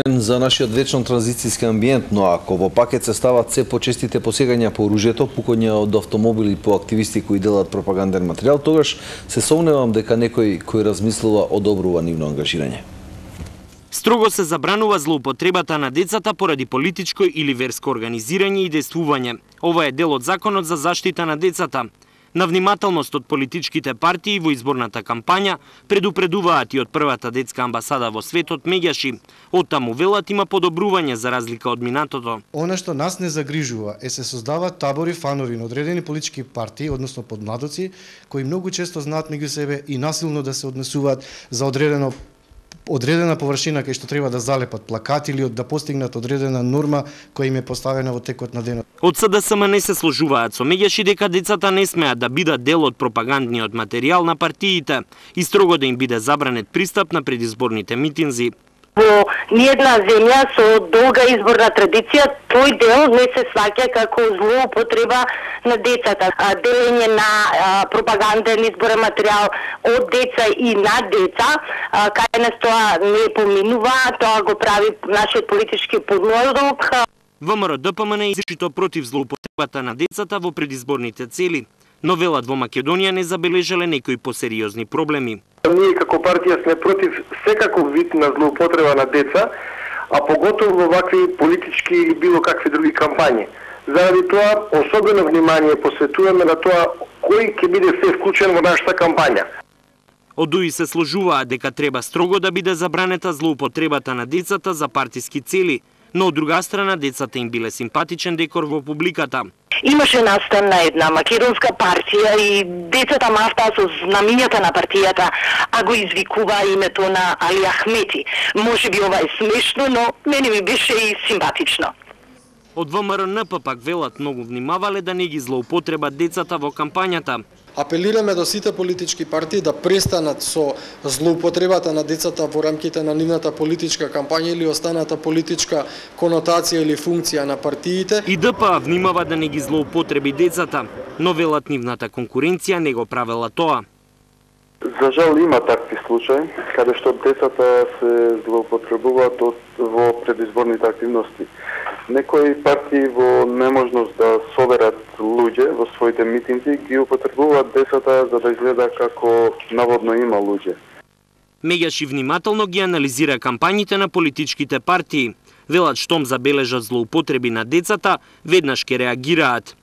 За нашиот вечно транзицијски амбиент, но ако во пакет се стават се почестите посегања по оружјето, пукање од автомобили по активисти кои делат пропаганден материјал, тогаш се сомневам дека некој кој размислува одобрува нивно ангажирање. Строго се забранува злоупотребата на децата поради политичко или верско организирање и действување. Ова е дел од Законот за заштита на децата. На внимателност од политичките партии во изборната кампања предупредуваат и од првата детска амбасада во светот меѓаши. Оттаму велат има подобрување за разлика од минатото. Она што нас не загрижува е се создаваат табори фанови на одредени политички партии, односно подмладоци, кои многу често знаат меѓу себе и насилно да се однесуваат за одредена површина кај што треба да залепат плакати или да постигнат одредена норма која им е поставена во текот на денот. Од СДСМ не се сложуваат со меѓаши дека децата не смеат да бидат дел од пропагандниот материјал на партиите и строго да им биде забранет пристап на предизборните митинзи. Во ниедна земја со долга изборна традиција, тој дел не се сваќа како злоупотреба на децата. Делење на пропаганден изборен материјал од деца и на деца, кај нас тоа не поминува, тоа го прави нашиот политички подмладок. ВМРО ДПМН е изричито против злоупотребата на децата во предизборните цели, но велат во Македонија не забележале некои посериозни проблеми. Ние како партија сме против секаков вид на злоупотреба на деца, а поготово во вакви политички или било какви други кампањи. Заради тоа особено внимание посветуваме на тоа кој ќе биде се вклучен во нашата кампања. Од УИ се сложуваат дека треба строго да биде забранета злоупотребата на децата за партиски цели, но од друга страна децата им биле симпатичен декор во публиката. Имаше настан на една македонска партија и децата мафтаа со знамињата на партијата, а го извикува името на Али Ахмети. Може би ова е смешно, но мене ми беше и симпатично. Од ВМРО-НП пак велат многу внимавале да не ги злоупотребат децата во кампањата. Апелираме до сите политички партии да престанат со злоупотребата на децата во рамките на нивната политичка кампања или останата политичка конотација или функција на партиите. И ДПА внимава да не ги злоупотреби децата, но велат нивната конкуренција не го правела тоа. За жал има такви случаи, каде што децата се злоупотребуваат во предизборните активности. Некои партии во неможност да соберат луѓе во своите митинзи ги употребуваат децата за да изгледа како наводно има луѓе. Меѓаши внимателно ги анализира кампањите на политичките партии. Велат штом забележат злоупотреби на децата, веднаш ќе реагираат.